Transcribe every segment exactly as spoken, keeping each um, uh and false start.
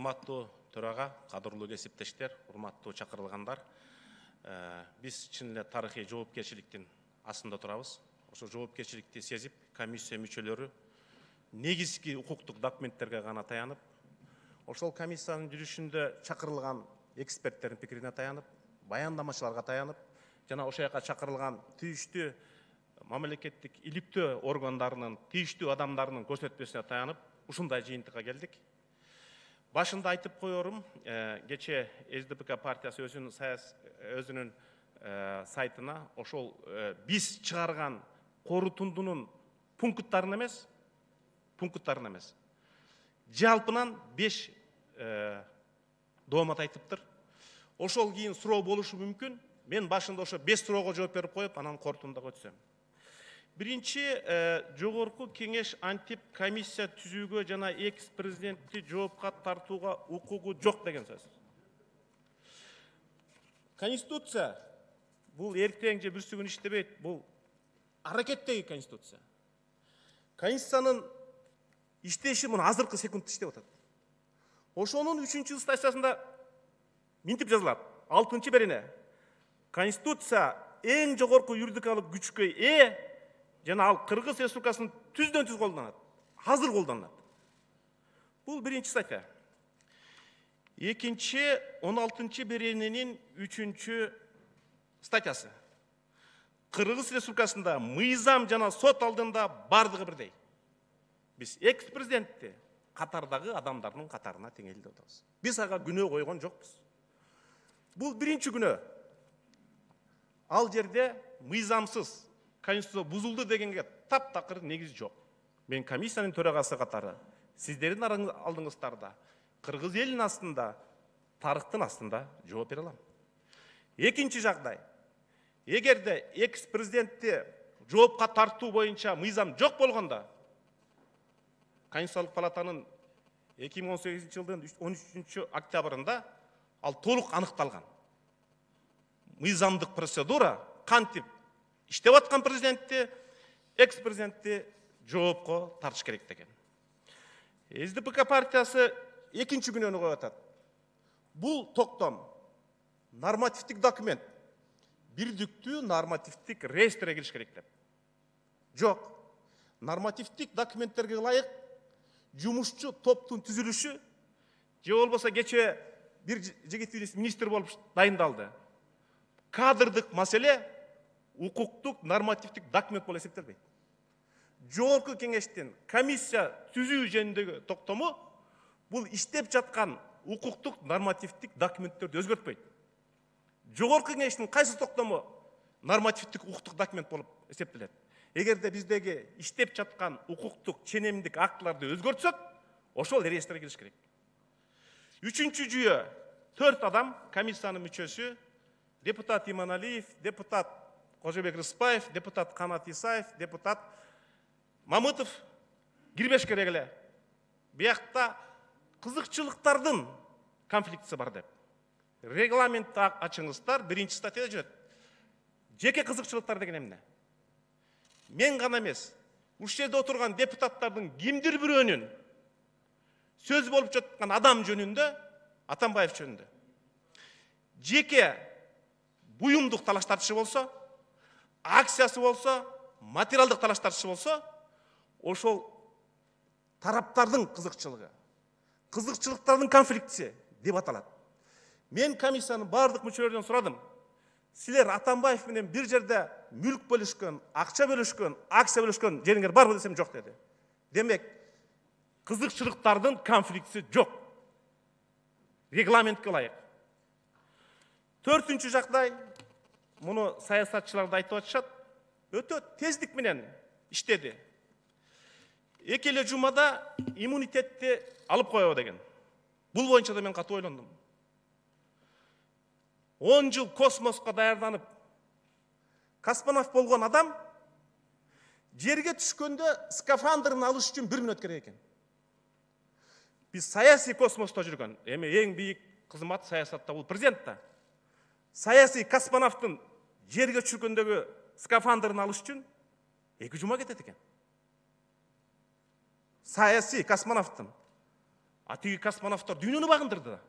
урматтуу төрага, кадырлуу кесиптештер, урматтуу чакырылгандар. Биз чын эле тарыхый жоопкерчиликтин астында турабыз. Ошо жоопкерчиликти сезип, комиссия мүчөлөрү негизги укуктук документтерге гана таянып, ошол комиссиянын жүрүшүндө чакырылган эксперттердин пикирине таянып, баяндамачыларга таянып, жана ошол жака чакырылган тийиштүү мамлекеттик иликтөө органдарынын тийиштүү адамдарынын көрсөтмөсүнө таянып, ушундай жыйынтыкка келдик. Башында айтып коерум, кече эс дэ пэ ка партиясы өзүнүн өзүнүн сайтына ошол биз чыгарган корутундунун пункттарын эмес, пункттарын эмес, жалпынан беш доомат айтыптыр. Ошол кийин суроо болушу мүмкүн. Мен башында ошо беш суроого жооп берип коюп, анан корутундага өтсөм. Биринчи, жогорку кеңеш антип комиссия түзүүгө жана экс-президентти жоопка тартууга укугу жок деген сөз. Конституция бул эртең же бүрсү күн иштебейт, бул аракеттеги конституция. Конституциянын иштеши мына азыркы секундта иштеп атат. Ошонун үчүнчү статьясында минтип жазылат. алтынчы берене. Конституция эң жогорку юридикалык күчкө ээ жана ал Кыргыз Республикасынын түздөн түз колдонулат. Азыр колдонулат. Бул биринчи статья. Экинчи, он алтынчы берененин үчүнчү статьясы. Кыргыз Республикасында мыйзам жана сот алдында бардыгы бирдей. Биз экс-президентти катардагы адамдардын катарына теңелтип атабыз. Биз ага күнөө койгон жокпуз. Бул биринчи күнөө. Ал жерде мыйзамсыз конституция бузулду дегенге таптакыр негиз жок. Мен комиссиянын төрагасы катары сиздердин алдыңыздарда Кыргыз элинин астында, тарыхтын астында жооп бере алам. Экинчи жагдай. Эгерде экс-президентти жоопка тартуу боюнча мыйзам жок болгондо, Конституциялык палатанын эки миң он сегизинчи жылдын он үчүнчү октябрында ал толук аныкталган. Мыйзамдык процедура кантип иштеп аткан президентти, экс-президентти жоопко тартыш керек деген. эс дэ пэ ка партиясы экинчи күнөөнү коюп атат. Бул токтом нормативдик документ, бирдиктүү нормативдик реестрге кириш керек деп. Жок. Нормативдик документтерге ылайык жумушчу топтун түзүлүшү, же болбосо кече бир жигит министр болуп дайындалды. Кадрдык маселе укуктук нормативдик документ болуп эсептелбейт. Жогорку кеңештин комиссия түзүү жөнүндөгү токтому бул иштеп жаткан укуктук нормативдик документтерди өзгөртпөйт. Жогорку кеңештин кайсы токтому нормативдик укуктук документ болуп эсептелет. Эгерде биздеги иштеп жаткан укуктук ченемдик актыларды өзгөртсөк, ошол реестрге кириш керек. Үчүнчү жүйө, төрт адам комиссиянын мүчөсү, депутат Иманалиев, депутат Кожобек Рыспаев, депутат Канат Исаев, депутат Мамытов кирбеш керек эле. Биякта кызыкчылыктардын конфликтisi бар деп. Регламентти ачыңыздар, биринчи статьяда жүрөт. Жеке кызыкчылыктар деген эмне? Мен гана эмес, ушул жерде отурган депутаттардын кимдир бирөөнүн сөз болуп жаткан адам жөнүндө, Атамбаев жөнүндө жеке буюмдук талаш тартышы болсо, акциясы болсо, материалдык талаш тартышы болсо, ошол тараптардын кызыкчылыгы, кызыкчылыктардын конфликтиси деп аталат. Мен комиссиянын бардык мүчөлөрүнөн сурадым. Силер Атамбаев менен бир жерде мүлк бөлүшкөн, акча бөлүшкөн, акция бөлүшкөн жериңер барбы десем жок деди. Демек, кызыкчылыктардын конфликтиси жок. Регламентке ылайык. Төртүнчү жагдай, муну саясатчылар да айтып атышат, өтө тездик менен иштеди. Эки эле жумада иммунитетти алып коебу деген. Бул боюнча да мен катуу ойлондум. он жыл космоска даярданып, космонавт болгон адам жерге түшкөндө скафандрын алыш үчүн бир мүнөт керек экен. Биз саясий космоста жүргөн, эми эң бийик кызмат саясатта бул президент да. Саясий космонавттын жерге түшкөндөгү скафандрын алыш үчүн эки жума кетет экен. Саясий космонавттын. А тиги космонавттар дүйнөнү багындырды да.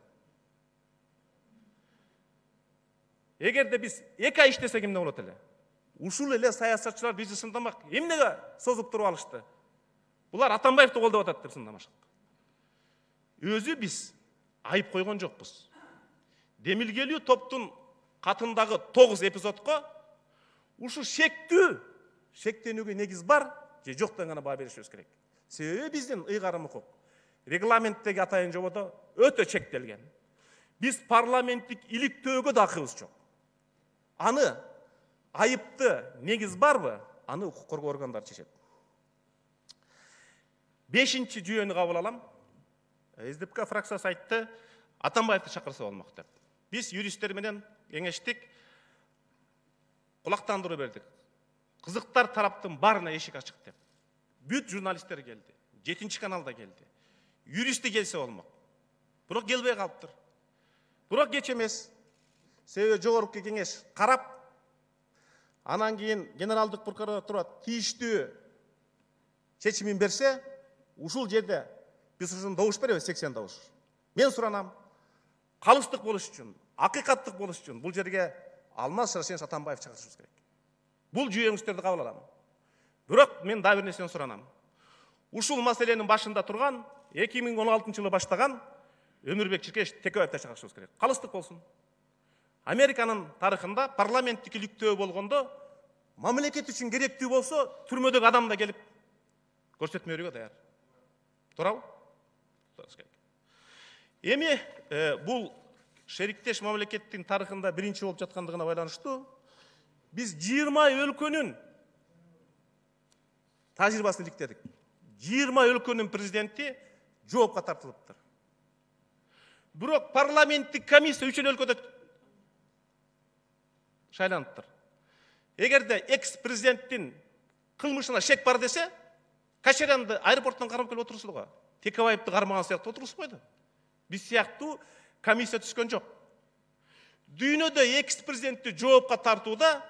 Эгерде биз эки ай иштесек эмне болот эле? Ушул эле саясатчылар бизди сындамак. Эмнеге созуп туруп алышты? Булар Атамбаевди колдоп атат деп сындамашат. Өзү биз айып койгон жокпуз. Демилгелүү топтун катындагы тогуз эпизодко ушу шектүү, шектенүүгө негиз бар же жок деген гана баа беришибиз керек. Себеби биздин ыйгарым укук регламенттеги атайын жободо өтө чектелген. Биз парламенттик иликтөөгө да акыбыз жок. Аны айыпты негиз барбы? Аны укук коргоо органдары чечет. Бешинчи жүйөнү кабыл алам. СДПК фракциясы айтты, Атамбаевди чакырса болмок деп. Биз юристтер менен кеңештик, кулактандыруу бердик. Кызыктар тараптын баарына эшик ачык деп. Бүт журналисттер келди, жетинчи каналда келди. Юристи келсе болмок. Бирок келбей калыптыр. Бирок кеч эмес. Себеби жогорку кеңеш карап, анан кийин генералдык прокуратура тийиштүү чечимин берсе, ушул жерде биз ушун добуш беребиз, сексен добуш. Мен суранам, калыстык болуш үчүн, акыйкаттык болуш үчүн бул жерге Алмаз Шаршенович Атамбаев чакырышыбыз керек. Бул жүйөңүздөрдү кабыл алам. Бирок мен дагы бир нерсени суранам. Ушул маселенин башында турган эки миң он алтынчы жылы баштаган Өмүрбек Чиркеш Текебаевди чакырышыбыз керек. Калыстык болсун. Американын тарыхында парламенттик иликтөө болгондо мамлекет үчүн керектүү болсо, түрмөдөгү адам да келип көрсөтмө берүүгө даяр. Туурабы? Эми бул шериктеш мамлекеттин тарыхында биринчи болуп жаткандыгына байланыштуу биз жыйырма өлкөнүн тажрыйбасын иликтедик. жыйырма өлкөнүн президенти жоопко тартылыптыр. Бирок парламенттик комиссия үч өлкөдө шайланыптыр. Эгерде экс-президенттин кылмышына шек бар десе, Качарянды аэропорттон кармап келип отурсуз го. Текебаевди кармаган сыяктуу отурсуз койду. Биз сыяктуу комиссия түшкөн жок. Дүйнөдө экс-президентти жоопко тартууда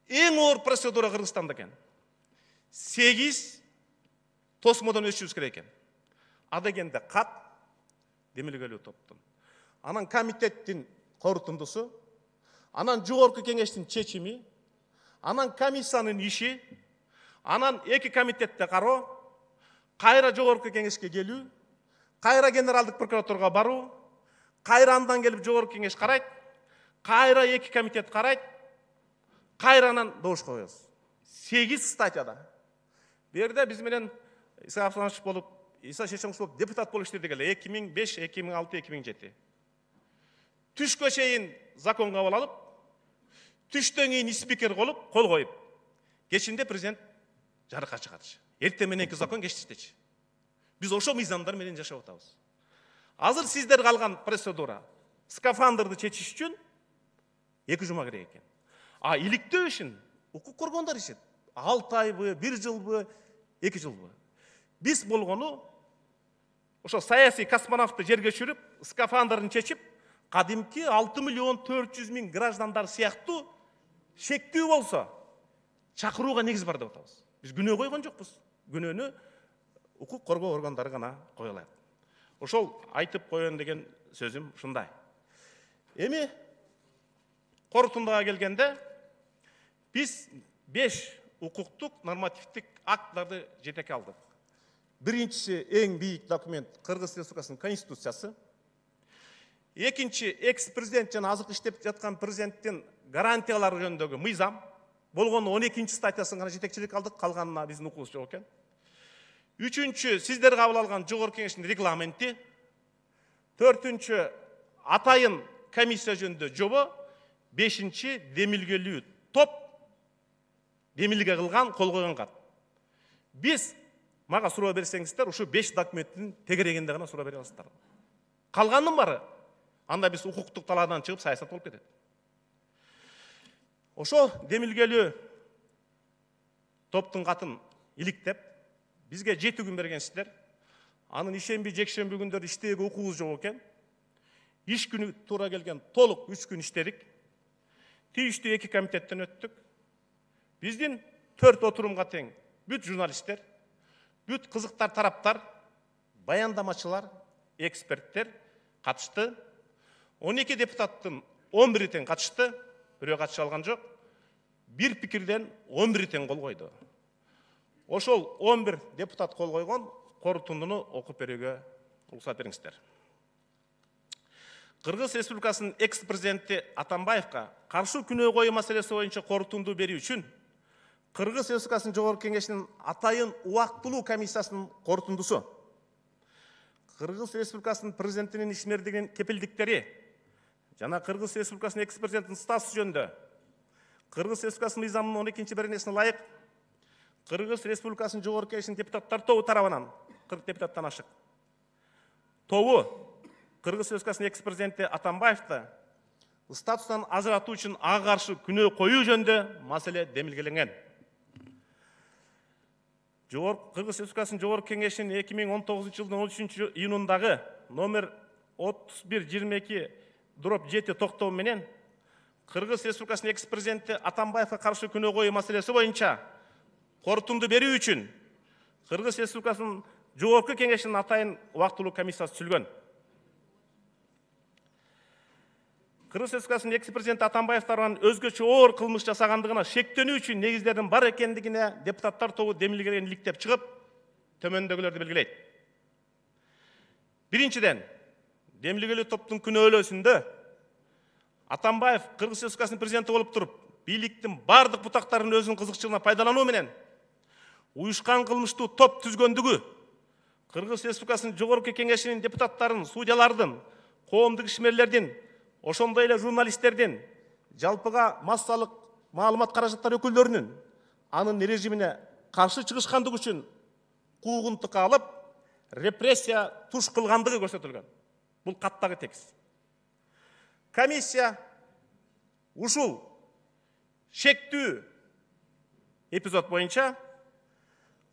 эң оор процедура Кыргызстанда экен. сегиз тосмодон өтүшүбүз керек экен. А дегенде кат демилгелүү топтун. Анан комитеттин корутундусу, анан жогорку кеңештин чечими, анан комиссиянын иши, анан эки комитетте кароо, кайра жогорку кеңешке келүү, кайра генералдык прокуратурага баруу, кайра андан келип жогорку кеңеш карайт, кайра эки комитет карайт, кайра анан добуш коебуз. сегиз статьяда. Бу жерде биз менен Иса Асланович болуп, Иса Шешенович болуп депутат болуп иштедик эле эки миң беш, эки миң алты, эки миң жети. Түшкө чейин закон кабыл алып, түштөн кийин спикер болуп, кол коюп, кечинде президент жарыкка чыгатчы. Эртең мененки закон кечтичи. Биз ошо мыйзамдар менен жашап атабыз. Азыр сиздер калган процедура скафандрды чечиш үчүн эки жума керек экен. А иликтөө ишин укук коргоондар ишет. алты айбы, бир жылбы, эки жылбы. Биз болгону ошо саясий космонавтты жерге түшүрүп, скафандрын чечип, кадимки алты миллион төрт жүз миң граждандар сыяктуу шектүү болсо, чакырууга негиз бар деп атабыз. Биз күнөө койгон жокпуз. Күнөөнү укук коргоо органдары гана кое алат. Ошол айтып коеюн деген сөзүм ушундай. Эми корутундага келгенде биз беш укуктук нормативдик актларды жетекке алдык. Биринчиси эң бийик документ Кыргыз Республикасынын конституциясы. Экинчи экс-президент жана азыркы иштеп жаткан президенттин гарантиялары жөнүндөгү мыйзам. Болгону он экинчи статьясын гана жетекчилик алдык, калганына биздин укугубуз жок экен. Үчүнчү сиздер кабыл алган жогорку кеңештин регламенти. Төртүнчү атайын комиссия жөнүндө жобо. Бешинчи демилгелүү топ демилге кылган, кол койгон кат. Биз мага суроо берсеңиздер, ушу беш документтин тегерегинде гана суроо бере аласыздар. Калганын бары анда биз укуктук талаадан чыгып саясат болуп кетет. Ошо демилгелүү топтун катын иликтеп, бизге жети күн бергенсиздер. Анын ишемби, жекшемби күндөрү иштөөгө укугубуз жок экен. Иш күнү туура келген толук үч күн иштедик. Тийиштүү эки комитеттен өттүк. Биздин төрт отурумга тең бүт журналисттер, бүт кызыктар тараптар, баяндамачылар, эксперттер катышты. он эки депутаттын он бiri тең катышты, бирөө катыша алган жок. Бир пикирден он бiri тең кол койду. Ошол он бир депутат кол койгон корутундуну окуп берүүгө уруксат бериңиздер. Кыргыз Республикасынын экс-президенти Атамбаевка каршы күнөө коюу маселеси боюнча корутунду берүү үчүн Кыргыз Республикасынын Жогорку Кеңешинин атайын убактылуу комиссиясынын корутундусу, Кыргыз Республикасынын президентинин ишмердигинин кепилдиктери жана Кыргыз Республикасынын экс-президентинин статусу жөнүндө Кыргыз Республикасынын мыйзамынын он экинчи беренесине ылайык Кыргыз Республикасынын Жогорку Кеңешинин депутаттар тобу тарабынан кырк депутаттан ашык тобу Кыргыз Республикасынын экс-президенти Атамбаевди статустан ажыратуу үчүн ага каршы күнөө коюу жөнүндө маселе демилгеленген. Кыргыз Республикасынын Жогорку Кеңешинин эки миң он тогузунчу жылдын он үчүнчү июнундагы номер отуз бир жыйырма эки дробь жети токтому менен Кыргыз Республикасынын экс-президенти Атамбаевга каршы күнөө коюу маселеси боюнча корутунду берүү үчүн Кыргыз Республикасынын Жогорку Кеңешинин атайын убактылуу комиссиясы түзүлгөн. Кыргыз Республикасынын экс-президенти Атамбаев тарабынан өзгөчө оор кылмыш жасагандыгына шектенүү үчүн негиздердин бар экендигине депутаттар тобу демилгелерин иликтеп чыгып, төмөндөгүлөрдү белгилейт. Биринчиден, демилгелүү топтун күнөөлөөсүндө Атамбаев Кыргыз Республикасынын президенти болуп туруп, бийликтин бардык бутактарынын өзүнүн кызыкчылыгына пайдалануу менен уюшкан кылмыштуу топ түзгөндүгү, Кыргыз Республикасынын Жогорку Кеңешинин депутаттарын, судьялардын, коомдук ишмерлердин, ошондой эле журналисттердин, жалпыга массалык маалымат каражаттары өкүлдөрүнүн анын режимине каршы чыгышкандыгы үчүн куугунтукка алып, репрессия туш кылгандыгы көрсөтүлгөн. Бул каттагы текст. Комиссия ушул шектүү эпизод боюнча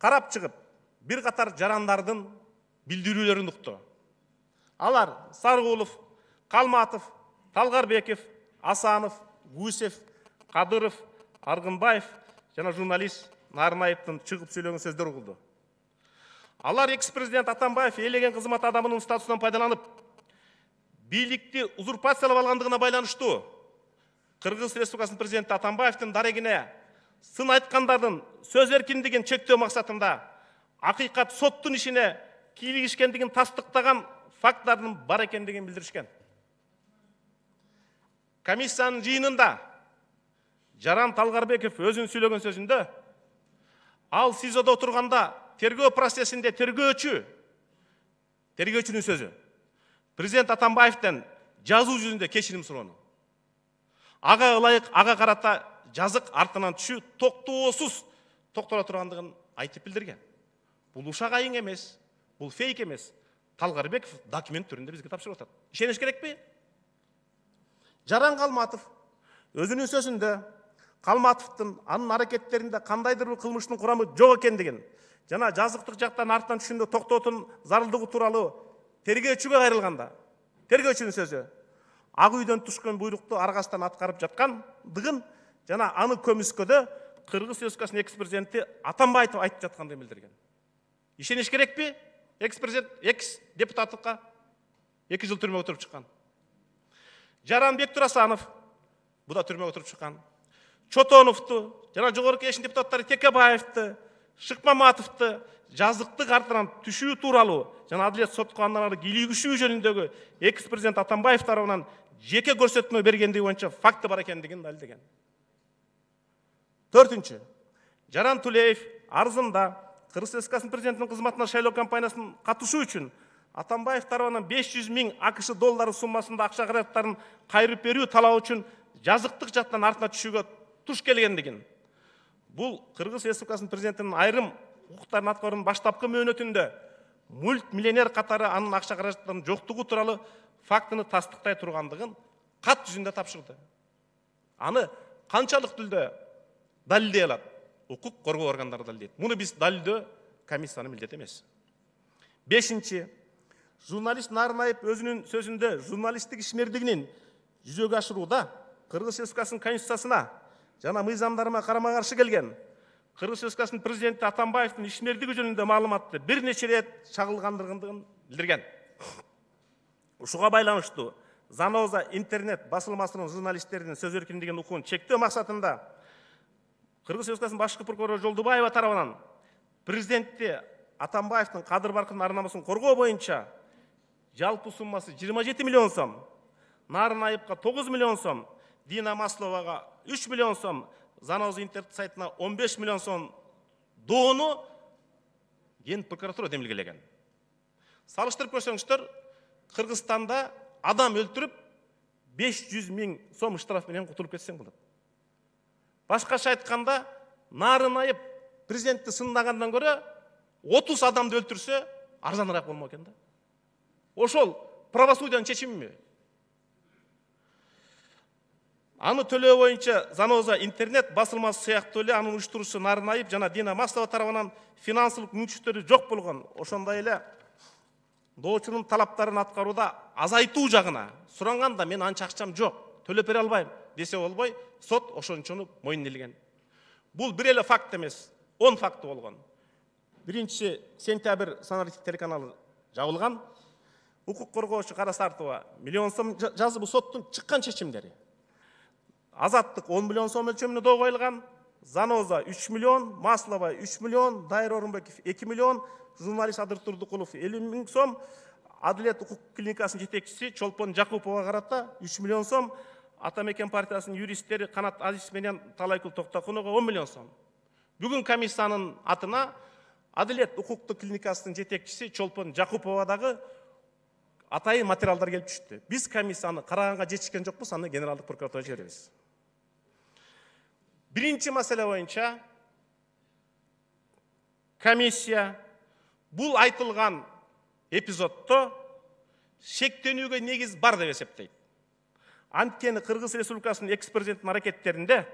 карап чыгып, бир катар жарандардын билдирүүлөрүн укту. Алар Сарыгулов, Калматов, Талгарбеков, Асанов, Гусев, Кадыров, Аргынбаев жана журналист Нарынаевдин чыгып сүйлөгөн сөздөр угулду. Алар экс-президент Атамбаев элеген кызмат адамынын статусунан пайдаланып, бийликти узурпациялап алгандыгына байланыштуу Кыргыз Республикасынын президенти Атамбаевдин дарегине сын айткандардын сөз эркиндигин чектөө максатында акыйкат соттун ишине кийлигишкендигин тастыктаган факттардын бар экендигин билдиришкен. Комиссиянын жыйынында Жаран Талгарбеков өзүнүн сүйлөгөн сөзүндө ал СИЗОдо отурганда тергөө процессинде тергөөчү тергөөчүнүн сөзү президент Атамбаевден жазуу жүзүндө кечирим суроону. Ага ылайык ага карата жазык артынан түшүү токтоосуз токтоло тургандыгын айтып билдирген. Бул ушак айың эмес, бул фейк эмес. Талгарбеков документ түрүндө бизге тапшырып атат. Ишениш керекпи? Жаран Калматов өзүнүн сөзүндө Калматовдун анын аракеттеринде кандайдыр бир кылмыштын курамы жок экендигин жана жазыктык жактан артынан түшүндө токтоотун зарылдыгы тууралуу тергөөчүгө кайрылганда, тергөөчүнүн сөзү ак үйдөн түшкөн буйрукту аргасынан аткарып жаткандыгын жана аны көмүскөдө Кыргыз Республикасынын экс-президенти Атамбаев айтып жаткандыгын билдирген. Ишениш керекпи? Экс-президент, экс-депутаттыкка эки жыл түрмөгө отуруп чыккан. Жаран Бектурасанов бу да түрмөгө отуруп чыккан. Чотоновду жана Жогорку Кеңештин депутаттары Текебаевди, Шыкмаматовду жазыктык артынан түшүү тууралуу жана адилет сотко андан ары кийлигишүү жөнүндөгү экс-президент Атамбаев тарабынан жеке көрсөтмө бергендиги боюнча факты бар экендигин далилдеген. Төртүнчү, Жаран Тулеев арызында Кыргыз Республикасынын президентинин кызматына шайлоо кампаниясына катышуу үчүн Атамбаев тарабынан беш жүз миң АКШ доллары суммасында акча каражаттарын кайрып берүү талабы үчүн жазыктык жактан артына түшүүгө туш келгендигин, бул Кыргыз Республикасынын президентинин айрым укуктарын аткаруунун баштапкы мөөнөтүндө мультмиллионер катары анын акча каражаттарынын жоктугу тууралуу фактыны тастыктай тургандыгын кат жүзүндө тапшырды. Аны канчалык түрдө далилдей алат? Укук коргоо органдары далилдейт. Муну биз далилдөө комиссиянын милдети эмес. Бешинчи, журналист Нарынаев өзүнүн сөзүндө журналисттик ишмердигинин жүзөгө ашырууда Кыргыз Республикасынын конституциясына жана мыйзамдарына карама каршы келген Кыргыз Республикасынын президенти Атамбаевдин ишмердиги жөнүндө маалыматты бир нече рет чагылгандыгын билдирген. Ушуга байланыштуу Заноза интернет басылмасынын журналисттердин сөз эркиндигин укугун чектөө максатында Кыргыз Республикасынын башкы прокурору Жолдубаева тарабынан президентти Атамбаевдин кадыр баркынын ар намысын коргоо боюнча жалпы суммасы жыйырма жети миллион сом, Нарын Айыпка тогуз миллион сом, Дина Масловага үч миллион сом, Заноза интернет сайтына он беш миллион сом доону Ген прокуратура демилгелеген. Салыштырып көрсөңүздөр, Кыргызстанда адам өлтүрүп беш жүз миң сом штраф менен кутулуп кетсең болот. Башкача айтканда, Нарын Айып президентти сындагандан көрө отуз адамды өлтүрсө арзаныраак болмок экен да. Ошол правосудиянын чечимиби? Аны төлөө боюнча Заноза интернет басылмасы сыяктуу эле анын уюштуруучусу Нарын Айып жана Дина Маслова тарабынан финансылык мүмкүнчүлүктөрү жок болгон. Ошондой эле доочунун талаптарын аткарууда азайтуу жагына суранганда мен анча акчам жок, төлөп бере албайм десе болбой, сот ошончону мойнуна илген. Бул бир эле факт эмес, он факты болгон. Биринчиси сентябрь санариптик телеканалы жабылган. Укук коргоочу Кара Сартова миллион сом жазды, бул соттун чыккан чечимдери. Азаттык он миллион сом өлчөмүнө доо коюлган. Заноза үч миллион, Маслова үч миллион, Дайыр Орунбеков эки миллион, журналист Адыр Турдукулов элүү миң сом, Адилет укук клиникасынын жетекчиси Чолпон Жакупова карата үч миллион сом, Атамекен партиясынын юристтери Канат Азиз менен Талайкул Токтокунова он миллион сом. Бүгүн комиссиянын атына Адилет укуктук клиникасынын жетекчиси Чолпон Жакупова дагы атайын материалдар келип түштү. Биз комиссияны караганга жетишкен жокпуз, аны генералдык прокуратурага жиберебиз. Биринчи маселе боюнча комиссия бул айтылган эпизодто шектенүүгө негиз бар деп эсептейт. Анткени Кыргыз Республикасынын экс-президенттин аракеттеринде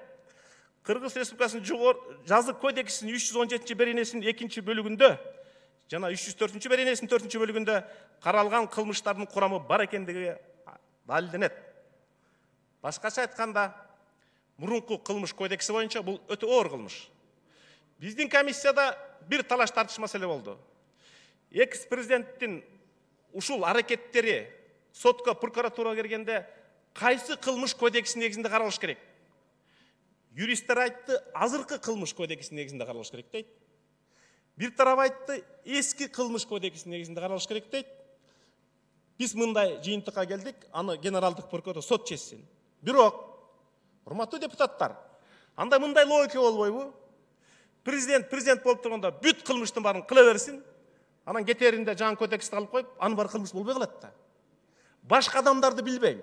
Кыргыз Республикасынын жазык кодексинин үч жүз он жетинчи беренесинин экинчи бөлүгүндө жана үч жүз төртүнчү беренесинин төртүнчү бөлүгүндө каралган кылмыштардын курамы бар экендиги далилденет. Башкача айтканда, мурунку кылмыш кодекси боюнча бул өтө оор кылмыш. Биздин комиссияда бир талаш тартыш маселе болду. Экс-президенттин ушул аракеттери сотко, прокуратурага киргенде кайсы кылмыш кодексинин негизинде каралыш керек? Юристтер айтты, азыркы кылмыш кодексинин негизинде каралыш керек дейт. Бир тарап айтты, эски кылмыш кодексинин негизинде каралыш керек дейт. Биз мындай жыйынтыкка келдик, аны генералдык прокурор сот чечсин. Бирок, урматтуу депутаттар, анда мындай логика болбойбу? Президент президент болуп турганда бүт кылмыштын баарын кыла берсин, анан кетеринде жаңы кодексти алып коюп, анын баары кылмыш болбой калат да. Башка адамдарды билбейм.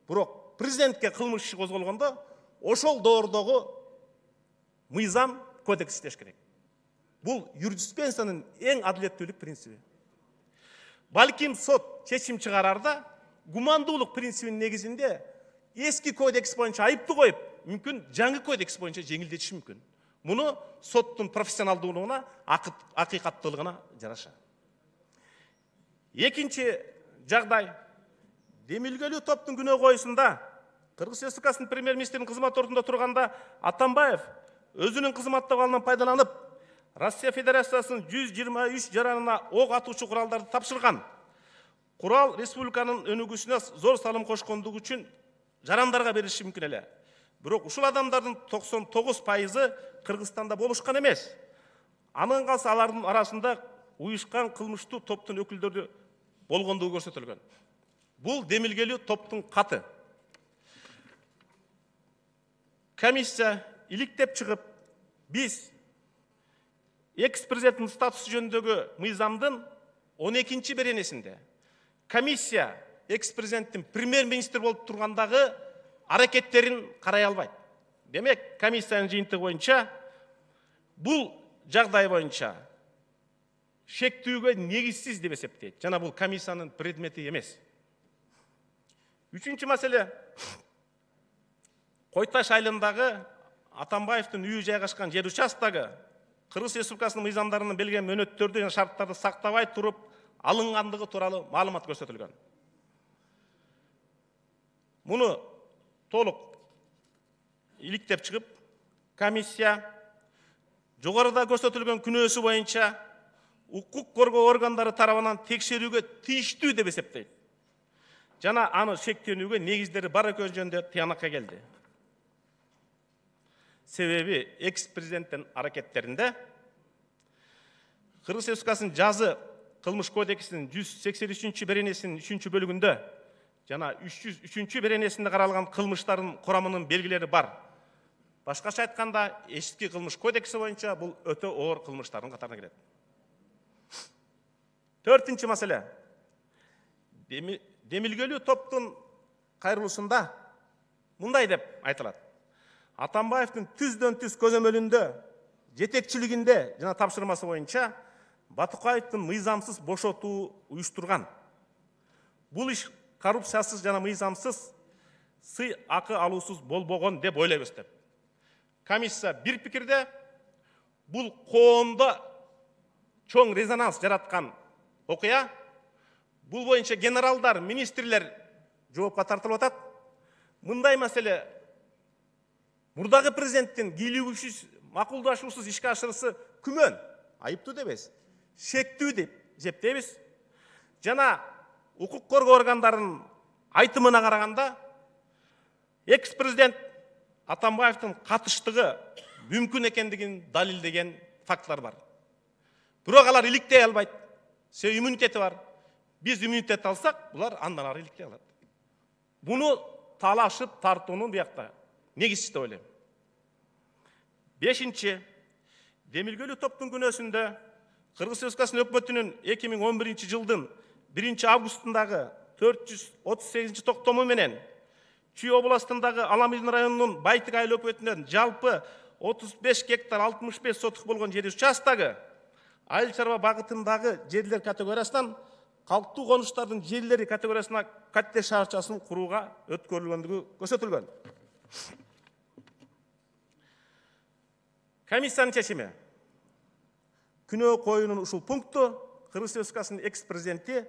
Бирок президентке кылмыш иши козголгондо ошол доордогу мыйзам кодекс иштеш керек. Бул юриспруденциянын эң адилеттүүлүк принциби. Балким сот чечим чыгарарда гумандуулук принцибинин негизинде эски кодекс боюнча айыптуу коюп, мүмкүн жаңы кодекс боюнча жеңилдетиши мүмкүн. Муну соттун профессионалдуулугуна, акыйкаттуулугуна жараша. Экинчи жагдай, демилгелүү топтун күнөө коюусунда Кыргыз Республикасынын премьер-министринин кызмат ордунда турганда Атамбаев өзүнүн кызматтык абалынан пайдаланып, Россия Федерациясынын жүз жыйырма үч жаранына ок атуучу куралдарды тапшырган. Курал республиканын өнүгүүсүнө зор салым кошкондугу үчүн жарандарга берилиши мүмкүн эле. Бирок ушул адамдардын токсон тогуз пайызы Кыргызстанда болушкан эмес. Анын калса алардын арасында уюшкан кылмыштуу топтун өкүлдөрү болгондугу көрсөтүлгөн. Бул демилгелүү топтун каты. Комиссия иликтеп чыгып, биз экс-президенттин статусу жөнүндөгү мыйзамдын он экинчи беренесинде комиссия экс-президенттин премьер-министр болуп тургандагы аракеттерин карай албайт. Демек, комиссиянын жыйынтыгы боюнча бул жагдай боюнча шектүүгө негизсиз деп эсептейт. Жана бул комиссиянын предмети эмес. Үчүнчү маселе, Кой Таш айылындагы Атамбаевдин үйү жайгашкан жер участогу Кыргыз Республикасынын мыйзамдарынын белгилеген мөөнөттөрдү жана шарттарды сактабай туруп алынгандыгы тууралуу маалымат көрсөтүлгөн. Муну толук иликтеп чыгып, комиссия жогоруда көрсөтүлгөн күнөөсү боюнча укук коргоо органдары тарабынан текшерүүгө тийиштүү деп эсептейт. жана аны шектенүүгө негиздери бар экени жөнүндө тыянакка келди. Себеби экс-президенттин аракеттеринде Кыргыз Республикасынын жазы кылмыш кодексинин жүз сексен үчүнчү беренесинин үчүнчү бөлүгүндө жана үч жүз үчүнчү беренесинде каралган кылмыштардын курамынын белгилери бар. Башкача айтканда, эски кылмыш кодекси боюнча бул өтө оор кылмыштардын катарына кирет. Төртүнчү маселе. Демилгелүү топтун кайрылуусунда мындай деп айтылат. Атамбаевдин түздөн түз көзөмөлүндө, жетекчилигинде жана тапшырмасы боюнча Батукаевдин мыйзамсыз бошотуу уюштурган. Бул иш коррупциясыз жана мыйзамсыз сый акы алуусуз болбогон деп ойлойбуз деп. Комиссия бир пикирде бул коомдо чоң резонанс жараткан окуя. Бул боюнча генералдар, министрлер жоопко тартылып атат. Мындай маселе мурдагы президенттин кийлигүүсүз, макулдашуусуз ишке ашырысы күмөн, айыптуу дебейбиз, шектүү деп эсептейбиз. Жана укук коргоо органдарынын айтымына караганда, экс-президент Атамбаевдин катыштыгы мүмкүн экендигин далилдеген фактылар бар. Бирок алар иликтей албайт. Себеби иммунитети бар. Биз иммунитет алсак, булар андан ары иликтей алат. Буну талашып тартуунун биякта негизчи деп ойлойм. Бешинчи, демилгелүү топтун күнөөсүндө Кыргыз Республикасынын өкмөтүнүн эки миң он биринчи жылдын биринчи августундагы төрт жүз отуз сегизинчи токтому менен Чүй областындагы Аламилдин районунун Байтык айыл өкмөтүнөн жалпы отуз беш гектар алтымыш беш сотук болгон жер участогу айыл чарба багытындагы жерлер категориясынан калктуу конуштардын жерлери категориясына катте шаарчасын курууга өткөрүлгөндүгү көрсөтүлгөн. Комиссиянын чечими. Күнөө коюунун ушул пункту Кыргыз Республикасынын экс-президенти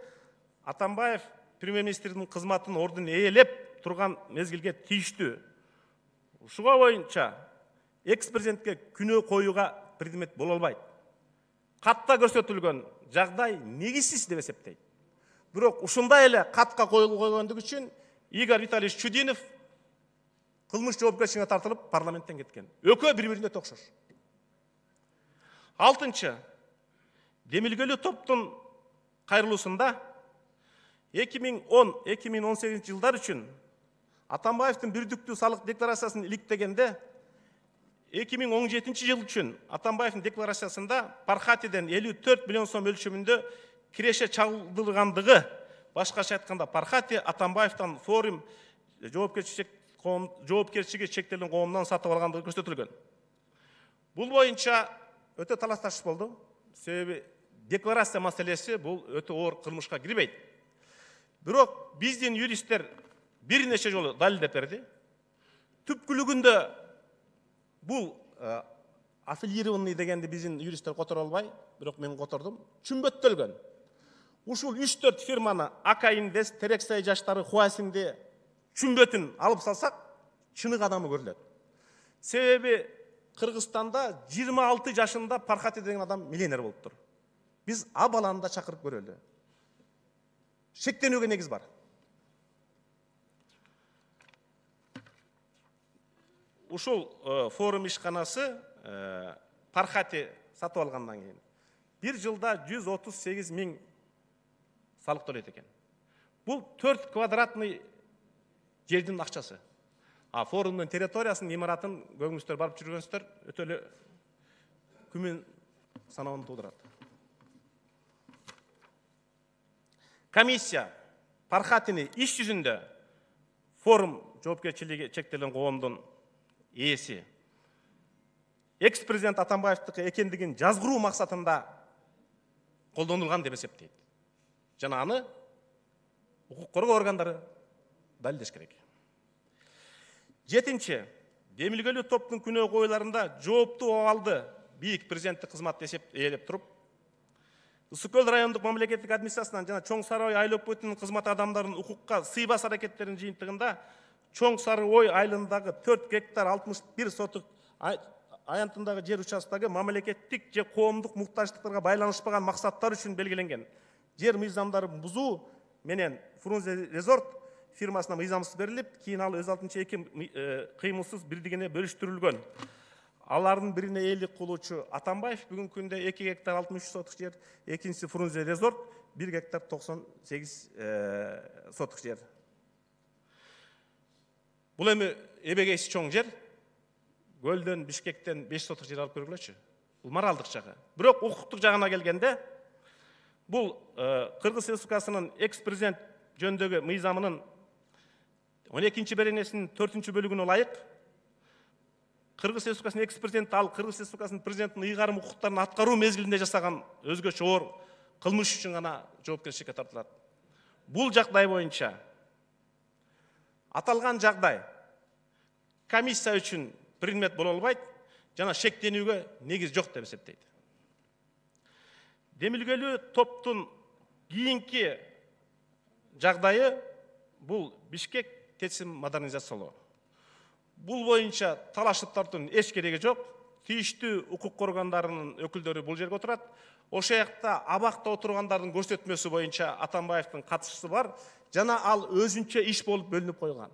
Атамбаев премьер-министрдин кызматын ордун ээлеп турган мезгилге тийиштүү. Ушуга боюнча экс-президентке күнөө коюуга предмет боло албайт. Катта көрсөтүлгөн жагдай негизсиз деп эсептейт. Бирок ушундай эле катка коюлгондугу үчүн Игорь Витальевич Чудинов кылмыш жоопкерчилигине тартылып парламенттен кеткен. Экөө бири-бирине окшош. Алтынчы, демилгелүү топтун кайрылуусунда эки миң он — эки миң он сегизинчи жылдар үчүн Атамбаевдин бирдиктүү салык декларациясын иликтегенде эки миң он жетинчи жыл үчүн Атамбаевдин декларациясында Пархатиден элүү төрт миллион сом өлчөмүндө киреше чалдыргандыгы, башкача айтканда Пархати Атамбаевден форум жоопкерчилиги чектелген коомдон сатып алгандыгы көрсөтүлгөн. Бул боюнча өтө талаш тартыш болду. Себеби декларация маселеси бул өтө оор кылмышка кирбейт. Бирок биздин юристтер бир нече жолу далилдеп берди. Түпкүлүгүндө бул аффилированный дегенди биздин юристтер которо албай, бирок мен котордум. Чүмбөттөлгөн. Ушул үч төрт фирманы Ака Инвест, Терексай жаштары, Хуасинди чүмбөтүн алып салсак, чынык адамы көрүлөт. Себеби Кыргызстанда жыйырма алты жашында Пархати деген адам миллионер болуптур. Биз а баланы да чакырып көрөлү. Шектенүүгө негиз бар. Ушул форум ишканасы Пархати сатып алгандан кийин бир жылда жүз отуз сегиз миң салык төлөйт экен. Бул төрт квадратный жердин акчасы. А форумдун территориясынын имаратын көбүңүздөр барып жүргөнсүздөр, өтө эле күмөн саноону туудурат. Комиссия Пархатини иш жүзүндө форум жоопкерчилиги чектелген коомдун ээси экс-президент Атамбаевдики экендигин жазгыруу максатында колдонулган деп эсептейт. Жана аны укук коргоо органдары далилдеш керек. Жетинчи, демилгелүү топтун күнөө коюларында жооптуу абалды бийик президенттик кызмат эсеп ээлеп туруп, Ысык көл райондук мамлекеттик администрациясынан жана Чоң Сары Ой айыл өкмөтүнүн кызмат адамдарынын укукка сыйбас аракеттеринин жыйынтыгында Чоң Сары Ой айылындагы төрт гектар алтымыш бир сотук аянтындагы жер участогу мамлекеттик же коомдук муктаждыктарга байланышпаган максаттар үчүн белгиленген жер мыйзамдарын бузуу менен Фрунзе Резорт фирмасына мыйзамсыз берилип, кийин ал өз алдынча эки кыймылсыз бирдигине бөлүштүрүлгөн. Алардын бирине ээлик кылуучу Атамбаев бүгүнкү күндө эки гектар алтымыш үч соток жер, экинчиси Фрунзе Резорт бир гектар токсон сегиз соток жер. Бул эми эбегейси чоң жер. Көлдөн, Бишкектен беш соток жер алып көргүлөчү. Бул моралдык жагы. Бирок укуктук жагына келгенде, бул Кыргыз Республикасынын экс-президент жөнүндөгү мыйзамынын он экинчи беренесинин төртүнчү бөлүгүнө ылайык Кыргыз Республикасынын экс-президенти ал Кыргыз Республикасынын президентинин ыйгарым укуктарын аткаруу мезгилинде жасаган өзгөчө оор кылмыш үчүн гана жоопкерчиликке тартылат. Бул жагдай боюнча аталган жагдай комиссия үчүн предмет боло албайт жана шектенүүгө негиз жок деп эсептейт. Демилгелүү топтун кийинки жагдайы бул Бишкек ТЭЦин модернизациялоо. Бул боюнча талашып тартуунун эч кереги жок. Тийиштүү укук органдарынын өкүлдөрү бул жерге отурат. Ошол жакта абакта отургандардын көрсөтмөсү боюнча Атамбаевдин катышчысы бар жана ал өзүнчө иш болуп бөлүнүп койгон.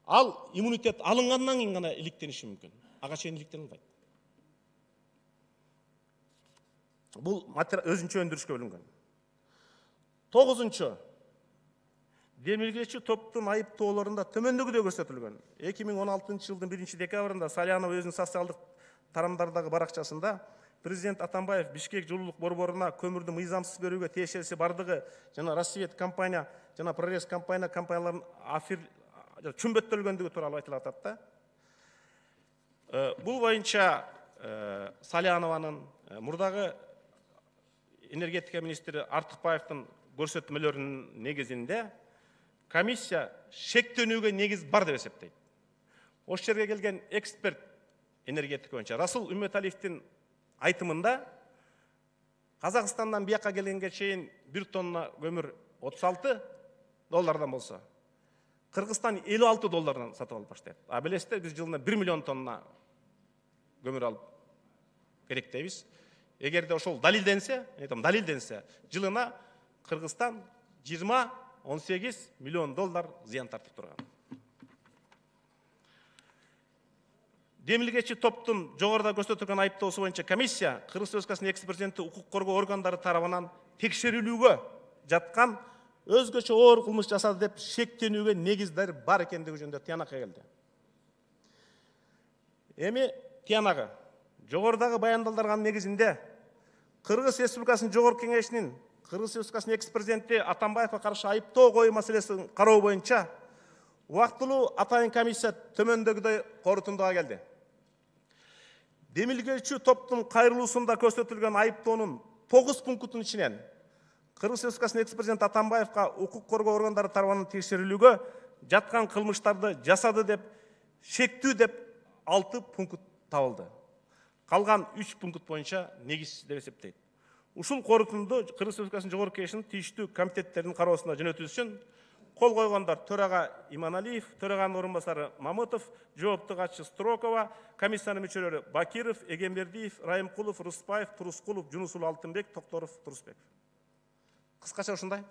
Ал иммунитет алынгандан кийин гана иликтениши мүмкүн. Ага чейин иликтене албайт. Бул өзүнчө өндүрүшкө бөлүнгөн. тогузунчу демилгечи топтун айыптоолорунда төмөндөгүдөй көрсөтүлгөн. эки миң он алтынчы жылдын биринчи декабрында Салянов өзүнүн социалдык тарамдардагы баракчасында президент Атамбаев Бишкек жылуулук борборуна көмүрдү мыйзамсыз берүүгө тиешеси бардыгы жана Рассвет компания жана Прорез компания компанияларынын афир чүмбөттөлгөндүгү тууралуу айтылып атат да. Бул боюнча Салянованын мурдагы энергетика министри Артыкбаевдин көрсөтмөлөрүнүн негизинде комиссия шектенүүгө негиз бар деп эсептейт. Ошол жерге келген эксперт энергетика боюнча Расул Үмөталиевдин айтымында Казакстандан бияка келгенге чейин бир тонна көмүр отуз алты доллардан болсо, Кыргызстан элүү алты доллардан сатып алып баштайт. А билесиздер, биз жылына бир миллион тонна көмүр алып керектейбиз. Эгерде ошол далилденсе, айтам далилденсе, жылына Кыргызстан жыйырма он сегиз миллион доллар зыян тартып турган. Демилгечи топтун жогоруда көрсөтүлгөн айыптоосу боюнча комиссия Кыргыз Республикасынын экс-президенти укук коргоо органдары тарабынан текшерилүүгө жаткан өзгөчө оор кылмыш жасады деп шектенүүгө негиздер бар экендиги жөнүндө тыянакка келди. Эми тыянагы жогорудагы баяндалган негизинде Кыргыз Республикасынын Жогорку Кеңешинин Кыргыз Республикасынын экс-президенти Атамбаевга каршы айыптоо коюу маселесин кароо боюнча убактылуу атайын комиссия төмөндөгүдөй корутундуга келди. Демилгечи топтун кайрылуусунда көрсөтүлгөн айыптоонун тогуз пунктунун ичинен Кыргыз Республикасынын экс-президенти Атамбаевга укук коргоо органдары тарабынан текшерилүүгө жаткан кылмыштарды жасады деп шектүү деп алты пункт табылды. Калган үч пункт боюнча негизсиз деп эсептейт. Ушул корутунду Кыргыз Республикасынын Жогорку Кеңешинин тийиштүү комитеттеринин кароосуна жөнөтүү үчүн кол койгондар төрага Иманалиев, төраганын орун басары Мамытов, жоопту катчы Строкова, комиссиянын мүчөлөрү Бакиров, Эгембердиев, Райымкулов, Рыспаев, Турускулов, Жунусул Алтынбек, Токторов, Турусбек. Кыскача ушундай.